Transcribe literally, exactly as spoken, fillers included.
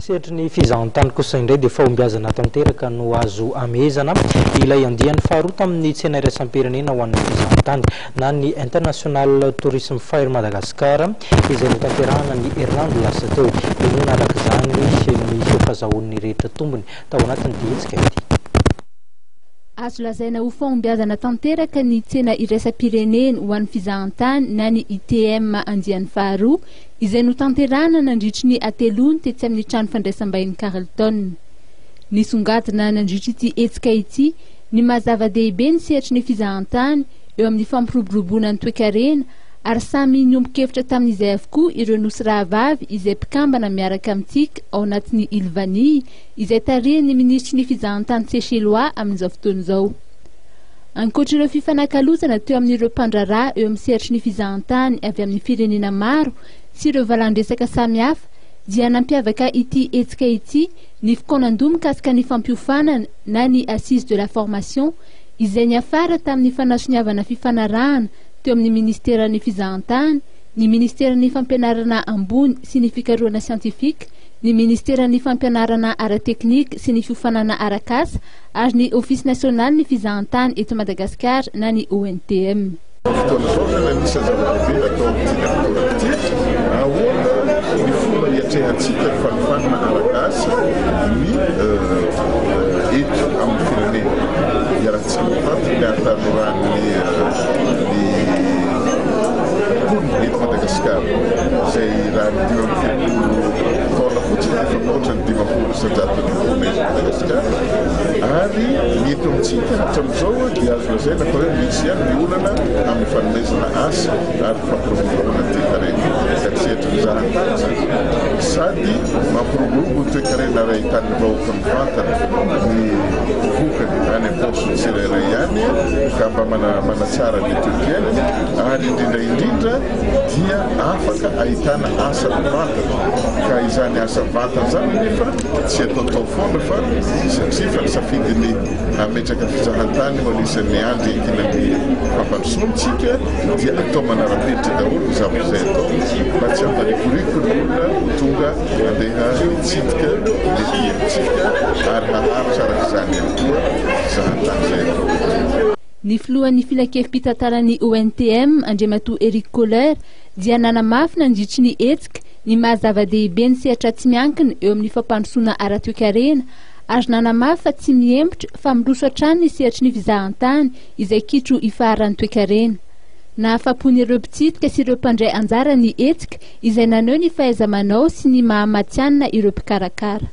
Sehatry ny fizahantany kosa indray dia fahombiazana tanteraka no azo amehezana ilay andiany faharoa tamin'ny tsena iraisam-pirenena ho an'ny fizahantany na ny International Tourism Fair Madagascar, izay notanterahana ny herinandro lasa teo. Inoana araka izany ny fahazahoan'ny rehetra tombony tao anatin'ny hetsika ity. Azo lazaina ho fahombiazana tanteraka ny tsena iraisam-pirenena ho an'ny fizahantany na ny I T M andiany faharoa, izay notanterahana nandritry ny hateloana tetsy amin'ny trano fandraisam-bahiny Carlton. Nisongadina nandritry ity hetsika ity ny mahazava-dehibe ny sehatry ny fizahantany eo amin'ny fampiroboroboana ny toekarena, ary samy niombon-kevitra tamin'izay avokoa ireo nosy rahavavy izay mpikambana miaraka amintsika ao anatin'ny Îles Vanille, izay tarihan'ny minisitry ny fizahantany seychellois amin'izao fotoana izao. Ankoatra ireo fifanakalozana teo amin'ireo mpandraharaha eo amin'ny sehatry ny fizahantany avy amin'ny firenena maro sy ireo valan-dresaka samihafa, dia nampiavaka ity hetsika ity ny fikaonan-doha mikasika ny fampiofanana na ny assise de la formation, izay niafara tamin'ny fanasoniavana fifanarahana teo amin'ny ministeran'ny fizahantany, ny ministeran'ny fampianarana ambony sy ny fikarohana siantifika, ny ministeran'ny fampianarana ara-teknika sy ny fiofanana arak'asa ary ny Office national ny fizahantany eto Madagasikara na ny O N T M. Fotoana zao zany, anisan'ny zava-dehibe atao amin'ity ity, ahoana ny fomba hiatrehantsika ny fanofanana arak'asa ny eto amin'ny firenena. Iarahantsika mifantatra ny hatanorany ny mponina eto Madagasikara, izay raha ny dimy amby telopolo taona fotsiny efa mihoatra ny dimampolo isanjato ny mponina eto Madagasikara. Ary ny eto amintsika hatramin'izao dia azo lazaina fa hoe misy ihany ny olana amin'ny fanomezana asa ary fampiroboroboana ny toekarena, ka ny sehatry ny fizahantany zany sady mampiroborobo ny toekarena raha hitan'ny vahoaka mivantana ny vokany any am-paosiny tsirairay ihany, ka mba mana manatsara ny toe-piainany, ary indrindra indrindra dia afaka ahitana asa mivantana. Ka izany asa mivantana zany nefa tsy ataotao foana, fa satria fa nisafidiny hametraka fizahantany ho anisan'ny andry iankinan'ny fampandrosoantsika, dia atao manara-penitra daholo ny zavatra izay atao mba tsy hamparikoriko ny olona ho tonga andeha hitsidika ety amintsika, ary haharitra araka izany ihany koa fizahantany izay atao eto. Ny filohan'ny filankevi-pitantanan'ny O N T M, Andriamatoa Eric Kohler, dia nanamafy nandritry ny hetsika ny mahazava-dehibe ny sehatra tsy miankina eo amin'ny fampandrosoana ara-toekarena, ary nanamafy fa tsy mihemotra fa miroso hatrany ny sehatry ny fizahantany izay kitro ifaharan'ny toekarena. Nahafa-po ireo mpitsidika sy ireo mpandray anjara ny hetsika, izay naneho ny fahaiza-manao sy ny mahamatianina ireo mpikarakara.